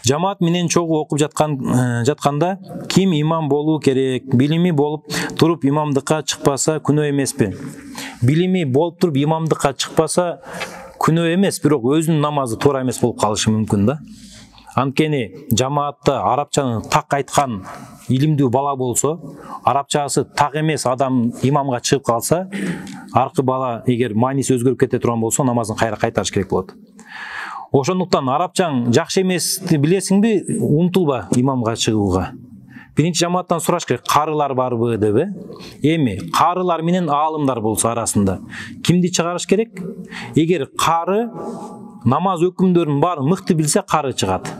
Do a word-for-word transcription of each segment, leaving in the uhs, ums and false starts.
Жамаат менен чогуу окуп жаткан жатканда ким имам болуу керек? Билими болуп туруп имамдыкка чыкпаса күнөө эмеспи? Билими болуп туруп имамдыкка чыкпаса күнөө эмес, бирок өзүнүн намазы туура эмес болуп калышы мүмкүн да. Анткени жамаатта арабчаны так айткан илимдүү бала болсо, арабчасы так эмес адам имамга чыгып калса, аркы бала эгер мааниси өзгөрүп кете турган болсо, намазын кайра кайтарыш керек болот. Ошондуктан арабчаң жакшы эмести билесиңби, умтулба имамга чыгууга. Биринчи жамааттан сураш керек, карылар барбы деп э? Эми карылар менен аалымдар болсо арасында кимди чыгарыш керек? Эгер кары намаз өкүмдөрүнүн баарын мыкты билсе, кары чыгат.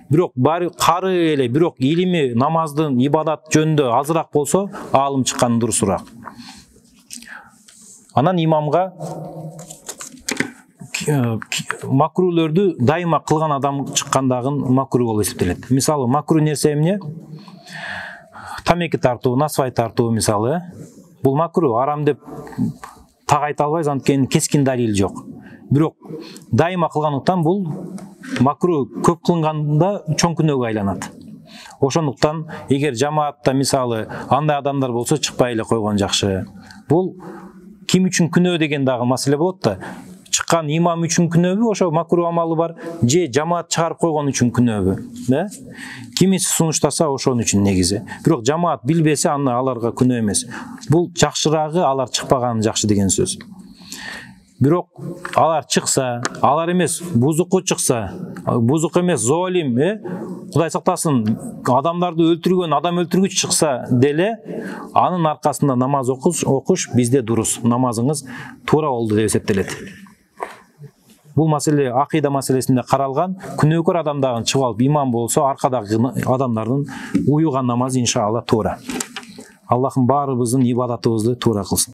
Бирок баары кары эле, бирок илими намаздын ибадат жөнүндө азыраак болсо, аалым чыккан дурусураак. Анан имамга макрулөрдү дайыма кылган адам чыккандагын макру болуп эсептелет. Мисалы, макру нерсе эмне? Тамеки тартуу, насвай тартуу мисалы, э? Бул макру, арам деп так айта албайбыз, анткени кескин далил жок. Бирок дайыма кылгандыктан бул макру көп кылынганда чоң күнөөгө айланат. Ошондуктан эгер жамаатта мисалы андай адамдар болсо, чыкпай эле койгон жакшы. Бул ким үчүн күнөө деген дагы маселе болот да. Чыккан имам үчүн күнөөбү, ошо макру амалы бар, же жамаат чыгарып койгон үчүн күнөөбү, да? Кимиси сунуштаса ошон үчүн негизи. Бирок жамаат билбесе, аны аларга күнөө эмес. Бул жакшыраагы алар чыкпаганы жакшы деген сөз. Бирок алар чыкса, алар эмес бузуку чыкса, бузук эмес золим, э? Кудай сактасын, адамдарды өлтүргөн, адам өлтүргүч чыкса деле, анын аркасында намаз окуш, окуш бизде дурус. Намазыңыз туура болду деп эсептелет. Бул маселе акыйда маселесинде каралган. Күнөөкөр адамдагы чыгып алып имам болсо, аркадагы адамдардын уюган намазы иншалла туура. Аллахым баарыбыздын ибадатыбызды туура кылсын.